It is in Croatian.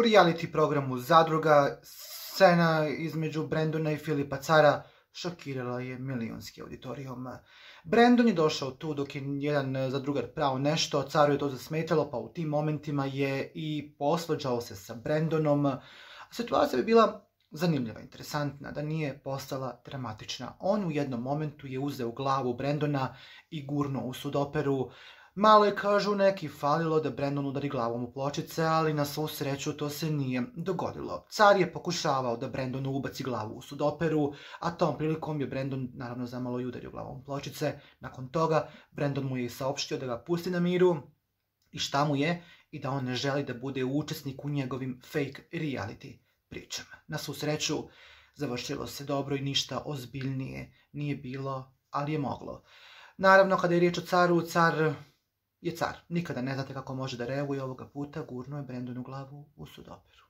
reality programu Zadruga scena između Brandona i Filipa Cara šokirala je milionski auditorijum. Brandon je došao tu dok je jedan zadrugar prao nešto, Caru je to zasmetalo, pa u tim momentima je i posvađao se sa Brandonom. Situacija bi bila zanimljiva, interesantna, da nije postala dramatična. On u jednom momentu je uzeo glavu Brandona i gurnuo u sudoperu. Malo je, kažu neki, falilo da Brandon udari glavom u pločice, ali na svu sreću to se nije dogodilo. Car je pokušavao da Brandonu ubaci glavu u sudoperu, a tom prilikom je Brandon naravno zamalo i udario glavom u pločice. Nakon toga Brandon mu je saopštio da ga pusti na miru i šta mu je, i da on ne želi da bude učesnik u njegovim fake reality pričama. Na svu sreću završilo se dobro i ništa ozbiljnije nije bilo, ali je moglo. Naravno, kada je riječ o Caru, Car je car. Nikada ne znate kako može da reaguje, ovoga puta gurnuo je Brandonu glavu u sudoperu.